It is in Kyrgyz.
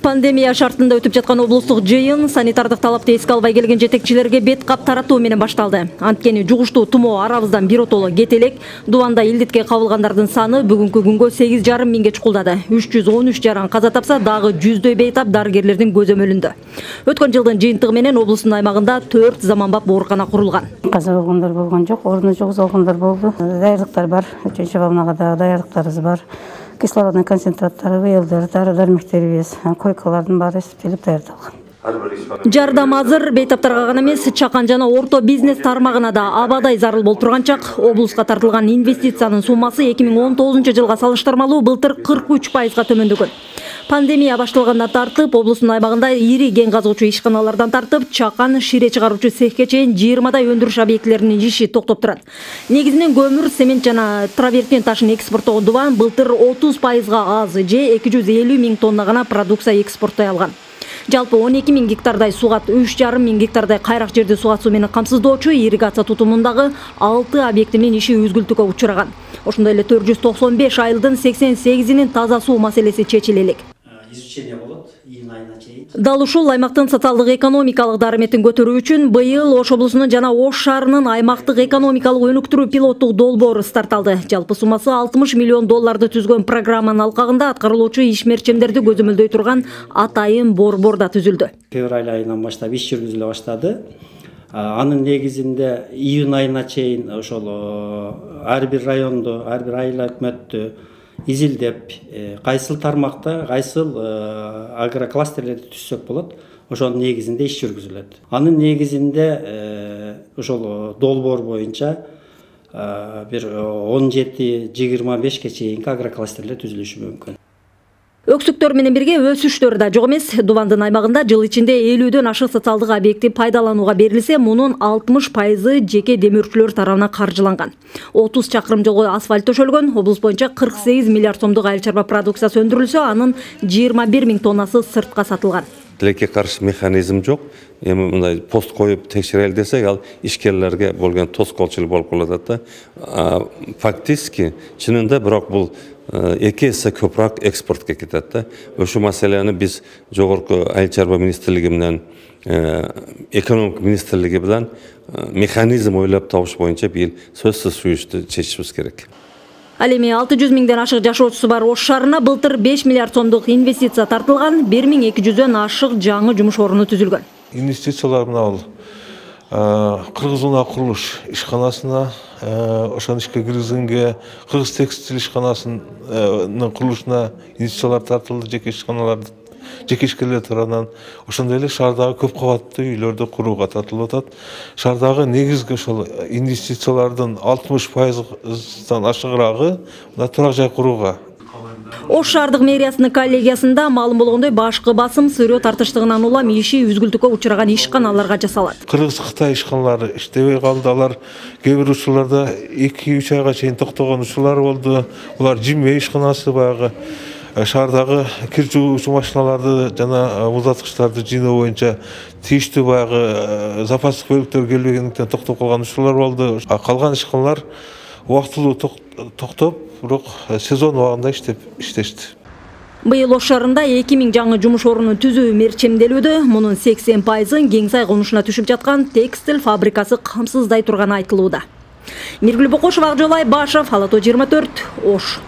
Пандемия шартында өтүп жаткан облустук жыйын санитардык талапты эске албай келген жетекчилерге бет кап таратуу менен башталды. Анткени жугуштуу тумоо арабыздан биротоло кете элек. Дубанда илдетке кабылгандардын саны бүгүнкү күнгө 8,5 миңге чукулдады. 313 жаран каза тапса, дагы жүздөй бейтап дарыгерлердин көзөмөлүндө. Өткөн жылдын жыйынтыгы менен облустун аймагында 4 заманбап оорукана курулган. Каза болгондар болгон жок, ордуна жогузулгандар болду. Даярдыктар бар, 3 волнага да даярдыктарыбыз бар. Кислородный концентраттары, ВЛД, дары-дармектерибиз, койкалардын баары эсептелип даярдалган. Жардам азыр бейтаптарга гана эмес, чакан жана орто бизнес тармагына да абадай зарыл болуп турган чак. Облуска тартылган инвестициянын суммасы 2019 жылга салыштырмалуу былтыр 43%га төмөндөгөн. Пандемия башталгандан тартып, облустун аймагында ири кен казуучу ишканалардан тартып, чакан, шире чыгаруучу цехке чейин 20дай өндүрүш объектилеринин иши токтоп турат. Негизинен көмүр, цемент жана травертин ташын экспорттогон Дубан былтыр 30%га аз, же 250 миң тонна гана продукция экспорттой алган. Жалпы 12 миң гектардай сугат, 3,5 миң гектардай кайрак жерди сугат суу менен камсыздоочу ирригация тутумундагы 6 объектинин иши үзгүлтүүгө учураган. Ошондой эле 495 айылдын 88-инин таза суу маселеси чечиле элек. Изучение болот июнь айына чейин. Дал ушул аймактын социалдык экономикалык дарыметин көтөрүү үчүн быйыл Ош облусунун жана Ош шаарынын аймактык экономикалык өнүктүрүү пилоттук долбоору старт алды. Жалпы суммасы $60 миллион түзгөн программанын алкагында аткарылуучу ишмерчемдерди көзөмөлдөй турган атайын борбор да түзүлдү. Февраль айынан баштап иш жүргүзүлө баштады. Анын негизинде июнь айына чейин ошол ар бир райондо, ар бир айыл өкмөттү изилдеп, кайсыл тармакта, кайсыл агрокластерлерди түзсөк болот, ошонун негизинде иш жүргүзүлөт. Анын негизинде ошол долбоор боюнча бир 17-25ке чейинки агрокластерлер түзүлүшү мүмкүн. Өксүктөр менен бирге өсүштөр да жок эмес. Дубандын аймагында жыл ичинде 50дөн ашык социалдык объекти пайдаланууга берилсе, мунун 60% жеке демөөрчүлөр тарабынан каржыланган. 30 чакырым жолго асфальт төшөлгөн, облус боюнча 48 миллиард сомдук айыл чарба продукциясы өндүрүлсө, анын 21 миң тоннасы сыртка сатылган. Тилекке каршы механизм жок. Эми мындай пост коюп текшерели десек, ал ишкерлерге болгон тоскоолчулук болуп калат да. Фактически, чынында бирок бул 2 эсе көбүрөөк экспортко кетет да. Ошол маселени биз жогорку айыл чарба министрлиги менен экономика министрлиги менен механизм ойлоп табыш боюнча бир сөзсүз сүйүштү чечишибиз керек. Ал эми 600 миңден ашык жашоочусу бар Ош шаарына былтыр 5 миллиард сомдук инвестиция тартылган, 1200дөн ашык жаңы жумуш орну түзүлгөн. Инвестициялар мына Кыргыз унаа курулуш ишканасына, ошон ишке киргизгенге Кыргыз текстиль ишканасынын курулушуна инвестициялар тартылды, жеке ишканаларды, жеке ишкерлер тарабынан. Ошондой эле шаардагы көп кабаттуу үйлөрдү курууга тартылып атат. Шаардагы негизги ошол инвестициялардын 60%дан ашыгыраагы мына турак жай курууга. Ош шаардык мэриясынын коллегиясында маалым болгондой, башкы басым сырьё тартыштыгынан улам иши үзгүлтүккө учураган ишканаларга жасалат. Кыргыз-Кытай ишканалары иштебей калды. Алар кээ бир учурларда 2-3 айга чейин токтогон учурлар болду. Булар жимме ишканасы баягы шаардагы кир жуучу машиналарды жана муздаткычтарды жыйноо боюнча тийиштүү баягы запастык бөлүктөр келбегендиктен токтоп калган учурлар болду. Калган ишканалар убактылуу токтоп, бирок сезон убагында иштешти. Быйыл Ош шаарында 2000 жаңы жумуш орнун түзүү мерчемделүүдө. Мунун 80%-ын Кеңсай конушуна түшүп жаткан текстиль фабрикасы камсыздай турганы айтылууда. Миргүл Бокошева, Акжол Айбашев, Ала Тоо 24, Ош.